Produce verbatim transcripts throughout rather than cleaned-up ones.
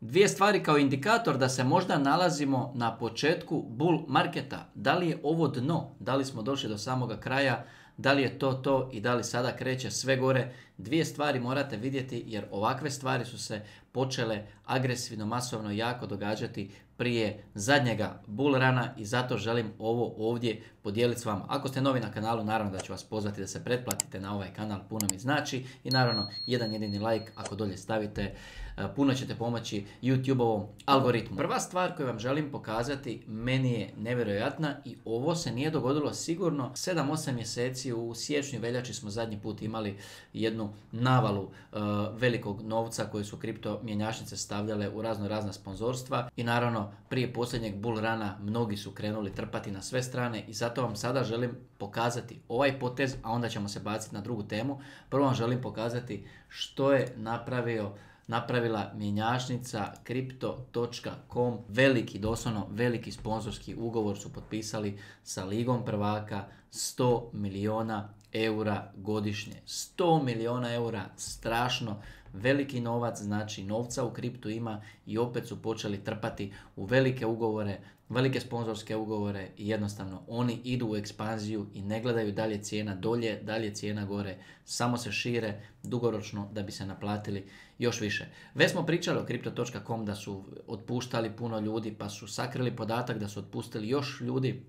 Dvije stvari kao indikator da se možda nalazimo na početku bull marketa. Da li je ovo dno? Da li smo došli do samoga kraja? Da li je to to i da li sada kreće sve gore? Dvije stvari morate vidjeti jer ovakve stvari su se počele agresivno, masovno jako događati prije zadnjega bull rana i zato želim ovo ovdje podijeliti s vama. Ako ste novi na kanalu, naravno da ću vas pozvati da se pretplatite na ovaj kanal, puno mi znači i naravno jedan jedini like ako dolje stavite, puno ćete pomoći YouTube-ovom algoritmu. Prva stvar koju vam želim pokazati meni je nevjerojatna i ovo se nije dogodilo sigurno sedam osam mjeseci. U siječnju, veljači smo zadnji put imali jednu navalu uh, velikog novca koji su kripto mjenjačnice stavljale u razno razna sponzorstva i naravno prije posljednjeg bull rana mnogi su krenuli trpati na sve strane i zato vam sada želim pokazati ovaj potez, a onda ćemo se baciti na drugu temu. Prvo vam želim pokazati što je napravio napravila mjenjačnica kripto točka com, veliki, doslovno veliki sponzorski ugovor su potpisali sa Ligom prvaka, sto milijuna eura godišnje. sto milijuna eura, strašno veliki novac, znači novca u kriptu ima i opet su počeli trpati u velike ugovore, velike sponzorske ugovore i jednostavno oni idu u ekspanziju i ne gledaju dalje cijena dolje, dalje cijena gore, samo se šire dugoročno da bi se naplatili još više. Već smo pričali o kripto točka com da su otpuštali puno ljudi pa su sakrili podatak da su otpustili još ljudi.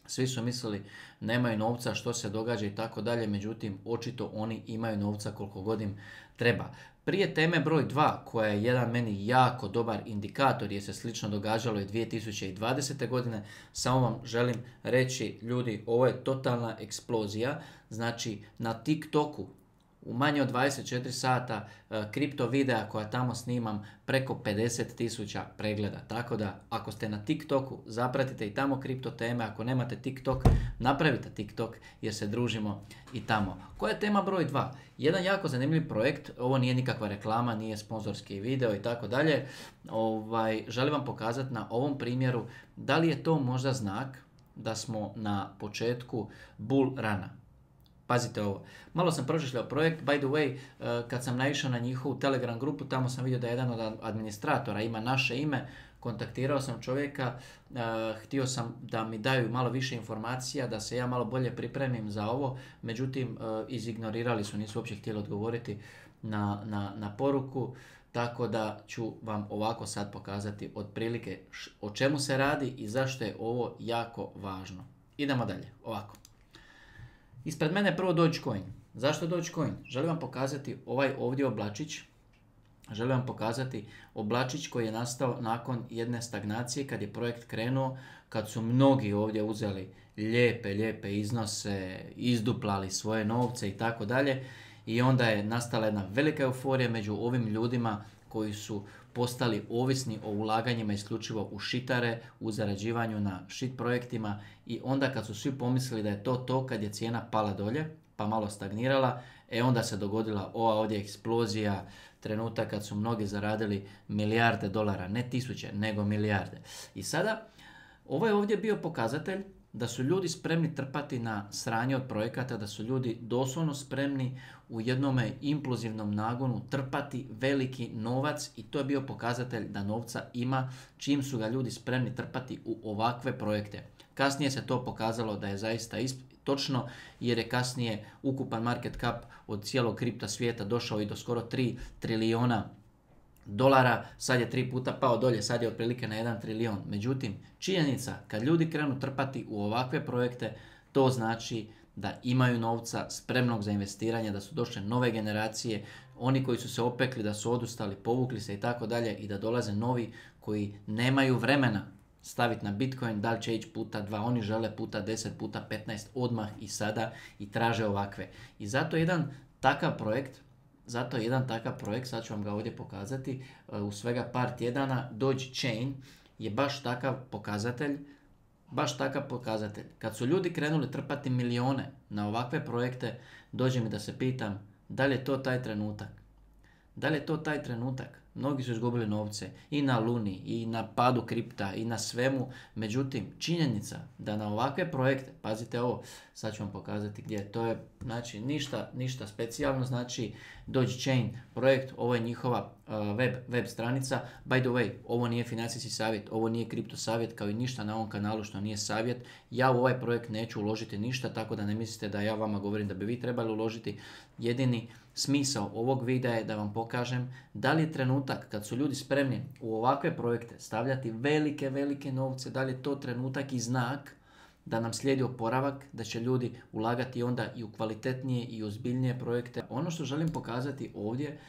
Svi su mislili nemaju novca, što se događa i tako dalje, međutim očito oni imaju novca koliko god im treba. Prije teme broj dva, koja je jedan meni jako dobar indikator jer se slično događalo i dvije tisuće dvadesete. godine, samo vam želim reći ljudi, ovo je totalna eksplozija, znači na TikToku u manje od dvadeset četiri sata uh, kripto videa koja tamo snimam preko pedeset tisuća pregleda. Tako da ako ste na TikToku zapratite i tamo kripto teme, ako nemate TikTok napravite TikTok jer se družimo i tamo. Koja je tema broj dva? Jedan jako zanimljiv projekt, ovo nije nikakva reklama, nije sponzorski video i tako dalje. Ovaj, želim vam pokazati na ovom primjeru da li je to možda znak da smo na početku bull rana. Pazite ovo, malo sam pročešljao projekt, by the way, kad sam naišao na njihovu Telegram grupu, tamo sam vidio da jedan od administratora ima naše ime, kontaktirao sam čovjeka, htio sam da mi daju malo više informacija, da se ja malo bolje pripremim za ovo, međutim izignorirali su, nisu uopće htjeli odgovoriti na, na, na poruku, tako da ću vam ovako sad pokazati otprilike o čemu se radi i zašto je ovo jako važno. Idemo dalje, ovako. Ispred mene je prvo Dogecoin. Zašto Dogecoin? Želim vam pokazati ovaj ovdje oblačić. Želim vam pokazati oblačić koji je nastao nakon jedne stagnacije kad je projekt krenuo, kad su mnogi ovdje uzeli lijepe, lijepe iznose, izduplali svoje novce i tako dalje. I onda je nastala jedna velika euforija među ovim ljudima koji su postali ovisni o ulaganjima isključivo u šitare, u zarađivanju na shit projektima i onda kad su svi pomislili da je to to, kad je cijena pala dolje, pa malo stagnirala, e onda se dogodila ova ovdje eksplozija, trenutak kad su mnogi zaradili milijarde dolara, ne tisuće, nego milijarde. I sada, ovo je ovdje bio pokazatelj da su ljudi spremni trpati na sranje od projekata, da su ljudi doslovno spremni u jednome implozivnom nagonu trpati veliki novac i to je bio pokazatelj da novca ima čim su ga ljudi spremni trpati u ovakve projekte. Kasnije se to pokazalo da je zaista točno jer je kasnije ukupan market cap od cijelog kripta svijeta došao i do skoro tri trilijuna dolara, sad je tri puta pao dolje, sad je otprilike na jedan trilijon. Međutim, činjenica, kad ljudi krenu trpati u ovakve projekte, to znači da imaju novca spremnog za investiranje, da su došle nove generacije, oni koji su se opekli, da su odustali, povukli se i tako dalje i da dolaze novi koji nemaju vremena staviti na Bitcoin, da li će ići puta dva, oni žele puta deset, puta petnaest odmah i sada i traže ovakve. I zato jedan takav projekt Zato jedan takav projekt, sad ću vam ga ovdje pokazati, u svega par tjedana, Dogechain je baš takav pokazatelj, baš takav pokazatelj. Kad su ljudi krenuli trpati milijone na ovakve projekte, dođe mi da se pitam da li je to taj trenutak. Da li je to taj trenutak? Mnogi su izgubili novce i na Luni, i na padu kripta, i na svemu. Međutim, činjenica da na ovakve projekte, pazite ovo, sad ću vam pokazati gdje, to je znači ništa, ništa specijalno, znači Dogechain projekt, ovo je njihova uh, web, web stranica. By the way, ovo nije financijski savjet, ovo nije kripto savjet, kao i ništa na ovom kanalu što nije savjet. Ja u ovaj projekt neću uložiti ništa, tako da ne mislite da ja vama govorim da bi vi trebali uložiti. Jedini smisao ovog videa je da vam pokažem da li je trenutak kad su ljudi spremni u ovakve projekte stavljati velike, velike novce, da li je to trenutak i znak da nam slijedi oporavak, da će ljudi ulagati onda i u kvalitetnije i ozbiljnije projekte. Ono što želim pokazati ovdje,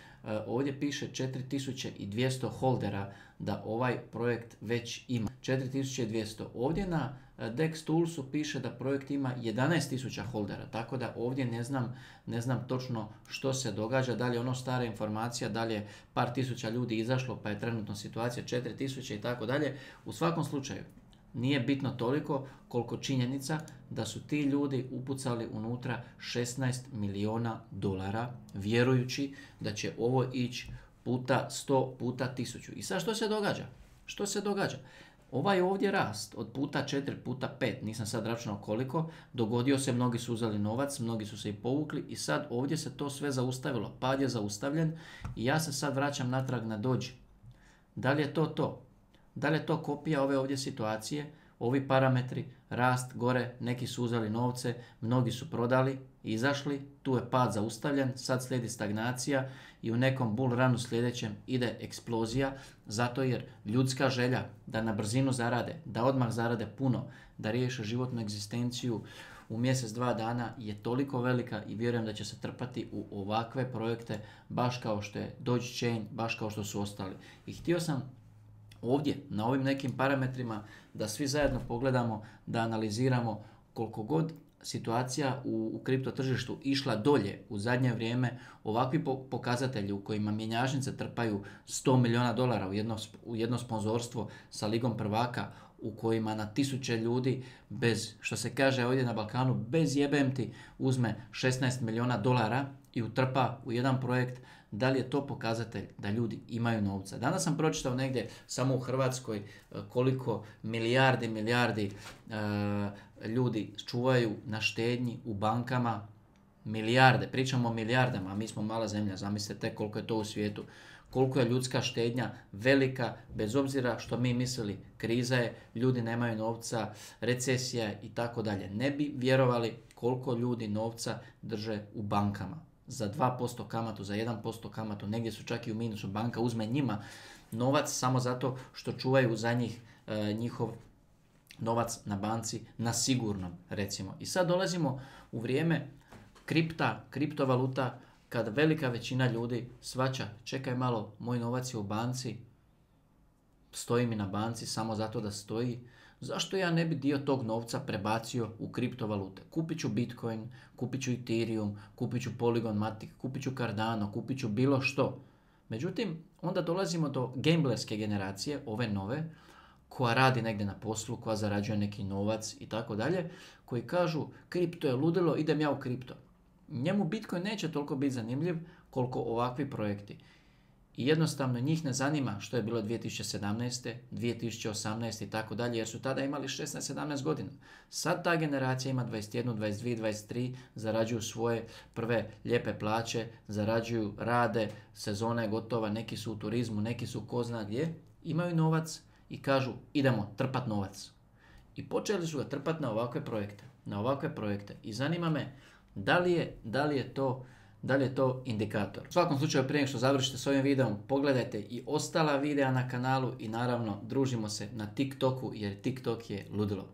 ovdje piše četiri tisuće dvjesto holdera da ovaj projekt već ima. četiri tisuće dvjesto. Ovdje na Dex Toolsu piše da projekt ima jedanaest tisuća holdera, tako da ovdje ne znam, ne znam točno što se događa, da li je ono stara informacija, da li je par tisuća ljudi izašlo pa je trenutno situacija četiri tisuće i tako dalje. U svakom slučaju, nije bitno toliko koliko činjenica da su ti ljudi upucali unutra šesnaest milijuna dolara vjerujući da će ovo ići puta sto, puta tisuću. I sad što se događa? Što se događa? Ovaj ovdje rast od puta četiri, puta pet, nisam sad računao koliko, dogodio se, mnogi su uzeli novac, mnogi su se i povukli i sad ovdje se to sve zaustavilo. Pad je zaustavljen i ja se sad vraćam natrag na Doge. Da li je to to? Da li je to kopija ove ovdje situacije, ovi parametri, rast gore, neki su uzeli novce, mnogi su prodali, izašli, tu je pad zaustavljen, sad slijedi stagnacija i u nekom bull runu sljedećem ide eksplozija, zato jer ljudska želja da na brzinu zarade, da odmah zarade puno, da riješe životnu egzistenciju u mjesec, dva dana je toliko velika i vjerujem da će se trpati u ovakve projekte, baš kao što je Dogechain, baš kao što su ostali. I htio sam ovdje, na ovim nekim parametrima, da svi zajedno pogledamo, da analiziramo koliko god situacija u, u kripto tržištu išla dolje u zadnje vrijeme, ovakvi po, pokazatelji u kojima mjenjačnice trpaju sto milijuna dolara u jedno, u jedno sponzorstvo sa Ligom prvaka, u kojima na tisuće ljudi bez, što se kaže ovdje na Balkanu, bez jebem ti uzme šesnaest milijuna dolara i utrpa u jedan projekt, da li je to pokazatelj da ljudi imaju novca? Danas sam pročitao negdje samo u Hrvatskoj koliko milijardi, milijardi uh, ljudi čuvaju na štednji u bankama, milijarde, pričamo o milijardama, a mi smo mala zemlja, zamislite koliko je to u svijetu. Koliko je ljudska štednja velika, bez obzira što mi mislili kriza je, ljudi nemaju novca, recesija i tako dalje. Ne bi vjerovali koliko ljudi novca drže u bankama. Za dva posto kamatu, za jedan posto kamatu, negdje su čak i u minusu. Banka uzme njima novac samo zato što čuvaju za njih e, njihov novac na banci na sigurnom, recimo. I sad dolazimo u vrijeme kripta, kriptovaluta, kad velika većina ljudi shvaća, čekaj malo, moj novac je u banci, stoji mi na banci samo zato da stoji, zašto ja ne bi dio tog novca prebacio u kriptovalute? Kupit ću Bitcoin, kupit ću Ethereum, kupit ću Polygon Matic, kupit ću Cardano, kupit ću bilo što. Međutim, onda dolazimo do gamblerske generacije, ove nove, koja radi negdje na poslu, koja zarađuje neki novac i tako dalje, koji kažu, kripto je ludilo, idem ja u kripto. Njemu Bitcoin neće toliko biti zanimljiv koliko ovakvi projekti. I jednostavno njih ne zanima što je bilo dvije tisuće sedamnaeste, dvije tisuće osamnaeste i tako dalje, jer su tada imali šesnaest sedamnaest godina. Sad ta generacija ima dvadeset jedan, dvadeset dva, dvadeset tri, zarađuju svoje prve lijepe plaće, zarađuju, rade, sezona je gotova, neki su u turizmu, neki su ko zna gdje, imaju novac i kažu idemo trpat novac. I počeli su ga trpati na ovakve projekte, na ovakve projekte. I zanima me da li je, da li je to Da li je to indikator? U svakom slučaju, prije nego što završite s ovim videom, pogledajte i ostala videa na kanalu i naravno družimo se na TikToku jer TikTok je ludilo.